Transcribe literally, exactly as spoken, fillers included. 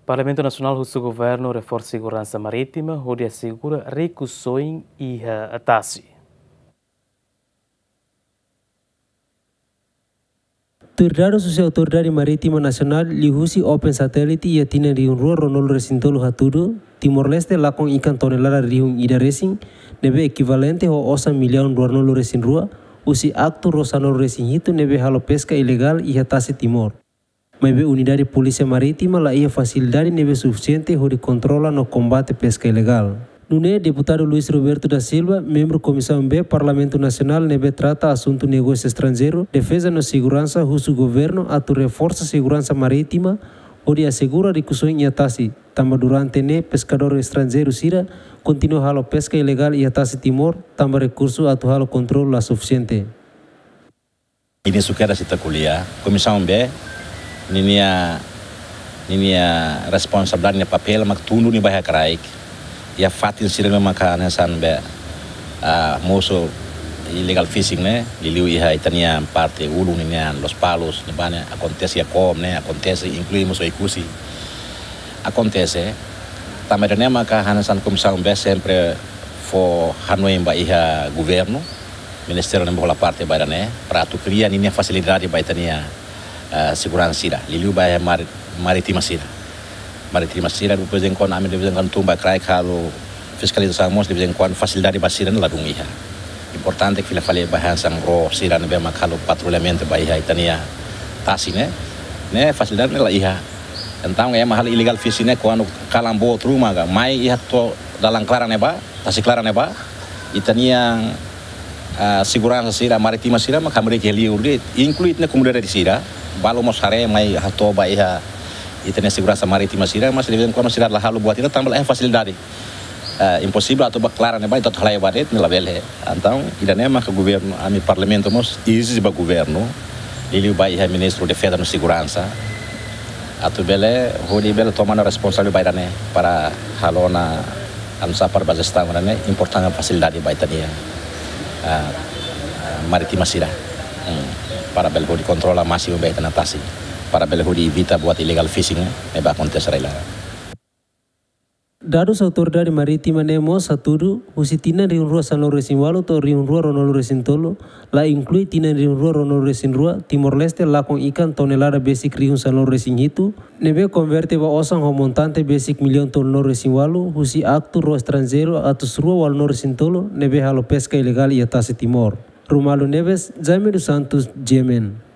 Parlamentu Nasionál husu governu reforsa seguransa marítima hodi asegura rikusoin iha tasi. Tuir dadus husi Autoridade Marítima Nasionál liuhusi Open Satellite iha tinan rihun rua ruanulu resin tolu hatudu, Timor-Leste lakon ikan tonelada rihun ida resin, ne'ebé ekivalente ho osan millaun ruanulu resin rua, husi aktu rua sanulu resin hitu ne'ebé halo peska ilegál iha tasi Timor. Maibé Unidade Polísia Marítima la iha fasilidade ne'ebé sufisiente hodi kontrola no kombate peska ilegál. Nune'e Deputadu Luis Roberto da Silva, membru Komisaun B Parlamentu Nasionál ne'ebé trata asuntu negósiu estranjeiru, defeza no seguransa husu governu atu reforsa seguransa marítima hodi asegura rikusoin iha tasi, tanba durante ne'e peskadór estranjeiru sira kontinua halo peska ilegál iha tasi Timor, tanba rekursu atu halo kontrolu la sufisiente. Ministru Queiroz ita ko'alia, Komisaun B, ninia, ninia responsabilidade, ninia papél mak tundu nia ba iha kraik. Iha fatin sira ne'ebé maka hanesan be, ah, mosu illegal fishing ne'e, liuliu iha ita-nia parte ulun nian, Lospalos, ne'ebá ne'e akontese iha Coom ne'e, akontese inklui mós Oekusi. Akontese, tanba ida-ne'e maka hanesan Komisaun B sempre fó hanoin ba iha governu, ministériu ne'ebé hola parte ba ida-ne'e, para atu kria ninia fasilidade ba ita-nia, eh, seguransa sira. Liuliu ba iha mari-, marítima sira. Marítima sira, de vez em quando, ami de vez em quando tun ba kraik halo fiskalizasaun mós, de vez em quando fasilidade ba sira ne'e ladún iha. Importante katak fila fali ba hanesan ró sira ne'ebé mak halo patrullamentu ba iha ita-nia tasi ne'e. Ne'e fasilidade ne'e la iha. Entaun, ema halo illegal fishing ne'e kuandu kalan boot ruma ka mai iha to'o dalan klaran ne'ebá, tasi klaran ne'ebá, ita-nia, ah, seguransa sira, marítima sira, mak hamriik iha liur de'it, inklui ita-nia komunidade sira, balu mós haree mai hato'o ba iha ita-nia seguransa marítima sira, mas de vez em quando sira la halo buat ida tanba la iha fasilidade. Ah, imposivel atu ba klaran ne'ebá, ita atu halai ba de'it, ne'e labele. Entaun, ida-ne'e maka governu, ami Parlamentu mós ezije ba governu, liuliu ba iha Ministru Defeza no Seguransa, atu bele, hodi bele toma ona responsabilidade ba ida-ne'e para halo ona, anu, sa para ba jestaun ida-ne'e, importante fasilidade ba ita-nia, ah, ah, marítima sira. Hmm. Para bele hodi kontrola másimu ba ita-nia tasi. Para bele hodi evita buat illegal fishing ne'ebé akontese rai-laran. Dadus Autoridade Marítima ne'e mós hatudu, husi tinan rihun rua sanulu resin walu to'o rihun rua ruanulu resin tolu, la inklui tinan rihun rua ruanulu resin rua, Timor-Leste lakon ikan tonelada besik rihun sanulu resin hitu, ne'ebé konverte ba osan ho montante besik millaun tolunulu resin walu, husi aktu ró estranjeiru atus rua walunulu resin tolu, ne'ebé halo peska ilegál iha tasi Timor. Romualdo Neves, Jaime dos Santos, G M N.